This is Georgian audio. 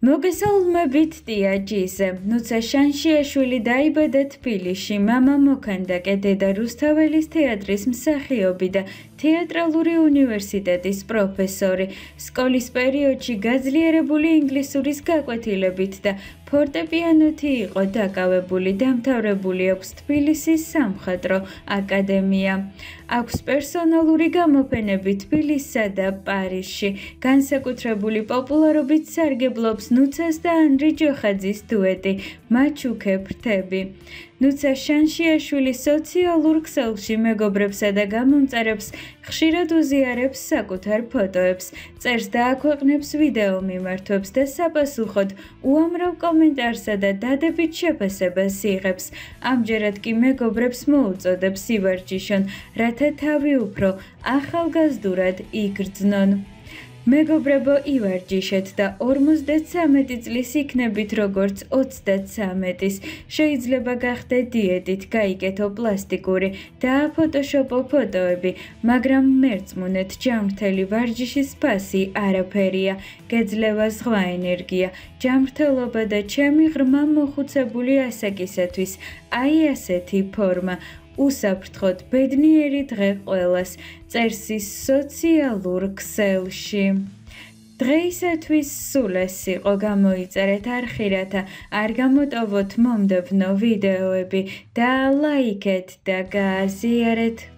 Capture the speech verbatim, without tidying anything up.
მოგესალმებით ტიაჯიზე. ნუცა შანშიაშვილი დაიბადა თბილისში. მამა მოქანდაკე, დედა რუსთაველის თეატრის მსახიობი და თეატრალური უნივერსიტეტის პროფესორი. სკოლის პერიოდში გაძლიერებული ინგლისურის გაკვეთილებით და ფორტეპიანოთი იყო დაკავებული. დამთავრებული აქვს თბილისის სამხატვრო აკადემია. აქვს პერსონალური გამოფენები თბილისსა და პარიზში. განსაკუთრებული პოპულარობით სარგებლობს ნუცას და ანრი ჯოხაძის დუეტი მაჩუქე ფრთები. ნუცა შანშიაშვილი სოციალურ ქსელში მეგობრებსა და გამომწერებს ხშირად უზიარებს საკუთარ ფოტოებს, წერს და აქვეყნებს ვიდეო მიმართვებს და sapasუხოდ უამრავ კომენტარსა და დადებით შეფასებას იღებს. ამჯერად კი მეგობრებს მოუწოდებს ივარჯიშონ, რათა თავი უფრო ახალგაზრდურად იგრძნონ. მეგობრებო, ივარჯიშეთ და ორმოცდათრამეტი წლის იქნებით როგორც ოცდათრამეტის. შეიძლება გახდეთ დიეტით, გაიკეთო პლასტიკური, დააფოტოშოპო ფოტოები, მაგრამ მერწმუნეთ, ჯანმრთელი ვარჯიშის ფასი არაფერია, გეძლევა ზღვა ენერგია, ჯანმრთელობა და ჩემი ღრმა მოხუცებული ასაკისათვის აი ასეთი ფორმა. უსაფრთხოდ ბედნიერი დღე ყველას, წერს ის სოციალურ ქსელში. დღეისათვის სულ ეს იყო, გამოიწერეთ არხი, რათა არ გამოტოვოთ მომდევნო ვიდეოები და ლაიქეთ და გააზიარეთ.